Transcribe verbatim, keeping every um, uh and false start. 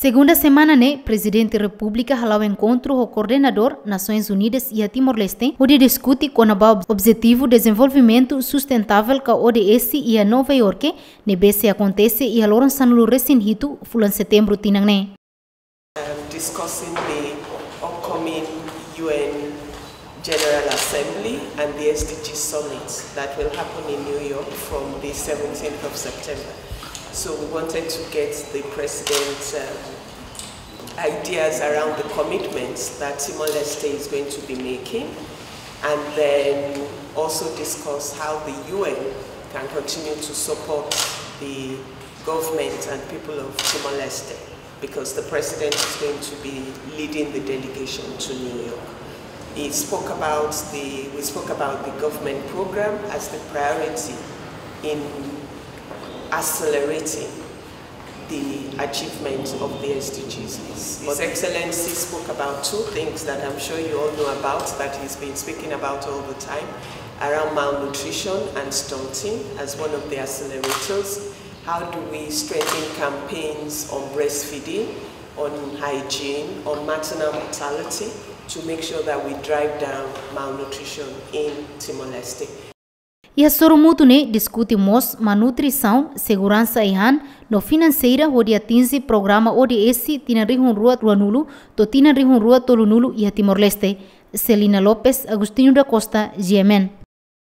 Segunda semana ne'e, Prezidente Repúblika hala'o enkontru ho koordenadór Nasoins Unidas iha Timor-Leste, hodi diskute kona-ba Objetivu Dezenvolvimentu Sustentável ka O D S iha Nova Iorke, ne'ebé sei akontese iha loron sanulu-resin-hitu fulan Setembru tinan ne'e. Um, discussing the upcoming U N General Assembly and the S D G Summit that will happen in New York from the seventeenth of September. So we wanted to get the President's um, ideas around the commitments that Timor-Leste is going to be making, and then also discuss how the U N can continue to support the government and people of Timor-Leste, because the President is going to be leading the delegation to New York. He spoke about the, we spoke about the government program as the priority in accelerating the achievement of the S D Gs. His Excellency spoke about two things that I'm sure you all know about, that he's been speaking about all the time, around malnutrition and stunting as one of the accelerators. How do we strengthen campaigns on breastfeeding, on hygiene, on maternal mortality, to make sure that we drive down malnutrition in Timor-Leste? Iha sorumutu ne'e diskute mós malnutrisaun, seguransa ai-han no finanseira hodi atinje programa O D S tinan rihun rua ruanulu to'o tinan rihun rua tolunulu iha Timor-Leste. Celina Lopes, Agostinho da Costa, G M N.